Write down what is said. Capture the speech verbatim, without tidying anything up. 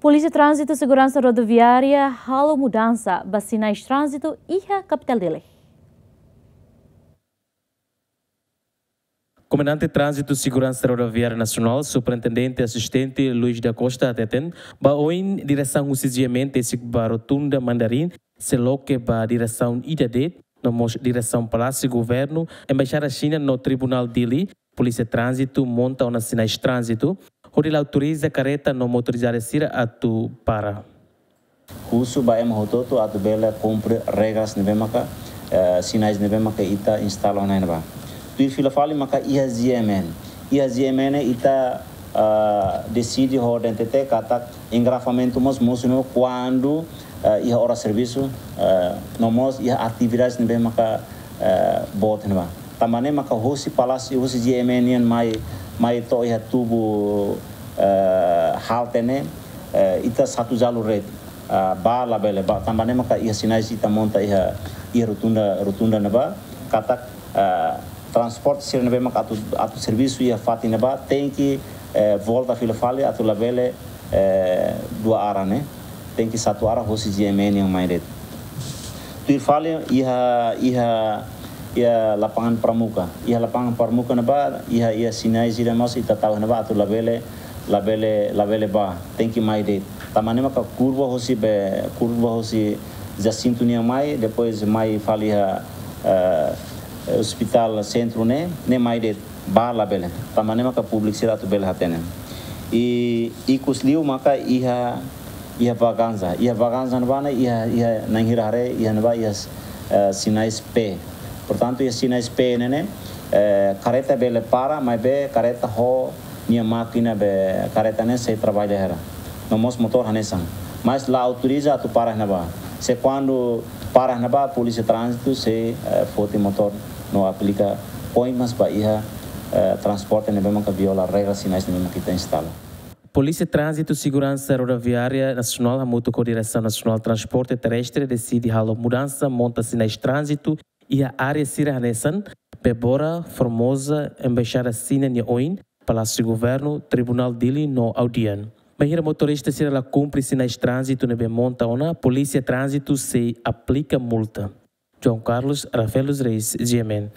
Polísia Tránzitu Seguransa Rodoviária halo mudansa ba sinais tránzitu iha kapitál Dili. Komandante Tránzitu Seguransa Rodoviária Nasionál, Superintendente Asistente Luis da Costa hateten, ba oin diresaun husi GMN tesik ba Rotunda Mandarin, sei loke ba diresaun ida de'it, no mós diresaun Palásiu Governu, Embaixada Xina no Tribunál Dili, Polísia Tránzitu monta ona sinais tránzitu, hodi la autoriza karreta no motorizadu sira atu para. Husu ba ema hotu-hotu atu bele kumpre regras ne'ebé maka, eh, sinais ne'ebé maka ita instala ona ne'ebá. Tuir fila fali maka iha GMN. Iha GMN ita, ah, deside ho DNTT katak engarrafamentu mós mosu no kuandu, eh, iha oras servisu, eh, no mós iha atividades ne'ebé maka, eh, boot ne'ebá. Tanba ne'e maka husi Palásiu, husi GMN nian mai, mai to'o iha tubu, eh, halte ne'e, eh, ita satu jalur de'it, ah, ba labele ba. Tanba ne'e maka iha sinais ita monta iha, iha rotunda, rotunda ne'ebá, katak, ah, transporte sira ne'ebé maka atu, atu servisu iha fatin ne'ebá, tenke, eh, volta fila fali atu labele, eh, dua arah ne'e. Tenke satu arah husi GMN nian mai de'it. Tuir fali iha, iha, iha lapangan Pramuka. Iha lapangan Pramuka ne'ebá, iha, iha sinais ida mós ita tau ne'ebá atu labele, labele, labele ba. Tenke mai de'it. Tanba ne'e maka kurva husi be, kurva husi Jacinto nian mai, depois mai fali iha, eh, Hospital Sentru ne'e, ne'e mai de'it. Ba labele. Tanba ne'e maka públiku sira atu bele hatene. I, ikus liu maka iha, iha Vaganza. Iha Vaganza ne'ebá ne'e, iha, iha na'in hira haree, iha ne'ebá iha, eh, sinais P. Portantu, iha sinais P ne'e ne'e, eh, karreta bele para, maibé karreta ho nia mákina be karreta ne'e sei traballa hela. No mós motór hanesan. Mas la autoriza atu para ne'ebá. Se kuandu para ne'ebá, Polísia Tránzitu sei, eh, foti motór no aplika poin mas ba iha, eh, transporte ne'ebé maka viola regra sinais ne'ebé maka ita instala. Polísia Tránzitu Seguransa Rodoviária Nasionál hamutuk ho Diresaun Nasionál Transporte Terrestre deside halo mudansa monta sinais tránzitu iha área sira hanesan Bebora, Formosa, Embaixada Xina nia oin, Palásiu Governu, Tribunál Dili no Audian. Bainhira motorista sira la kumpre sinais tránzitu ne'ebé monta ona, Polísia Tránzitu sei aplika multa. João Carlos Rafael dos Reis, GMN.